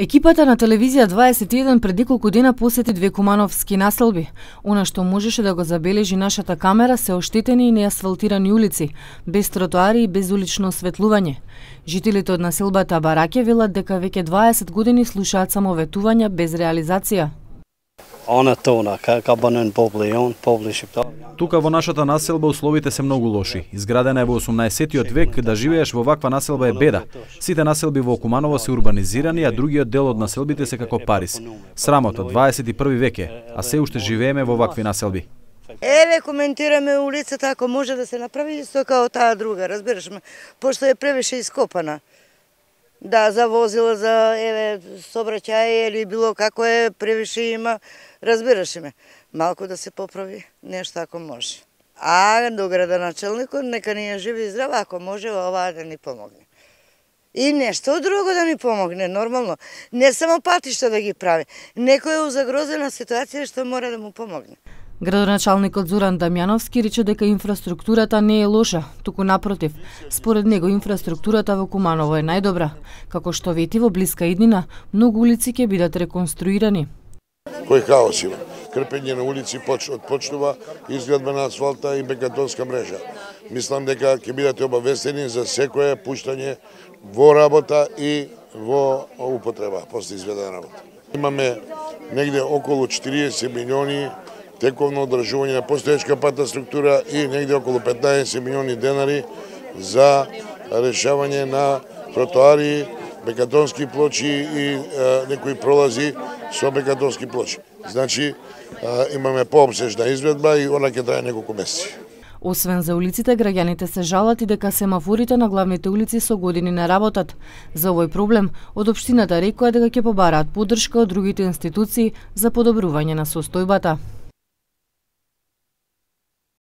Екипата на телевизија 21 пред неколку дена посети две кумановски населби. Она што можеше да го забележи нашата камера се оштетени и неасфалтирани улици, без тротоари и без улично осветлување. Жителите од населбата Бараќе велат дека веќе 20 години слушаат само ветувања без реализација. Тука во нашата населба условите се многу лоши. Изградена е во 18-тиот век, да живееш во ваква населба е беда. Сите населби во Куманово се урбанизирани, а другиот дел од населбите се како Париз. Срамота, 21 век е, а се уште живееме во вакви населби. Еве коментираме улицата, ако може да се направи исто као таа друга, разбираш ме, пошто е превише ископана. Да, за возила, за сообраќај или било како е, превише има, разбираш ме. Малку да се поправи нешто ако може. А до градоначалникот нека ни ја живи и здрава, ако може оваа да ни помогне. И нешто друго да ни помогне, нормално. Не само патишта да ги прави. Некој е у загрозена ситуација што мора да му помогне. Градоначалникот Зоран Дамјановски рече дека инфраструктурата не е лоша, туку напротив. Според него инфраструктурата во Куманово е најдобра. Како што вети, во блиска иднина многу улици ќе бидат реконструирани. Кој хаос има? Крпење на улици почнува, изградба на асфалта и бетонска мрежа. Мислам дека ќе бидете обавестени за секое пуштање во работа и во употреба, после изведена работа. Имаме негде околу 40 милиони тековно одржување на постоечка патна структура и негде околу 15 милиони денари за решавање на тротоари, бекатонски плочи и некои пролази со бекатонски плочи. Значи, имаме пообсежна изведба и она ќе трае неколку месеци. Освен за улиците, граѓаните се жалат и дека семафорите на главните улици со години не работат. За овој проблем, од општината рекоа дека ќе побараат поддршка од другите институции за подобрување на состојбата.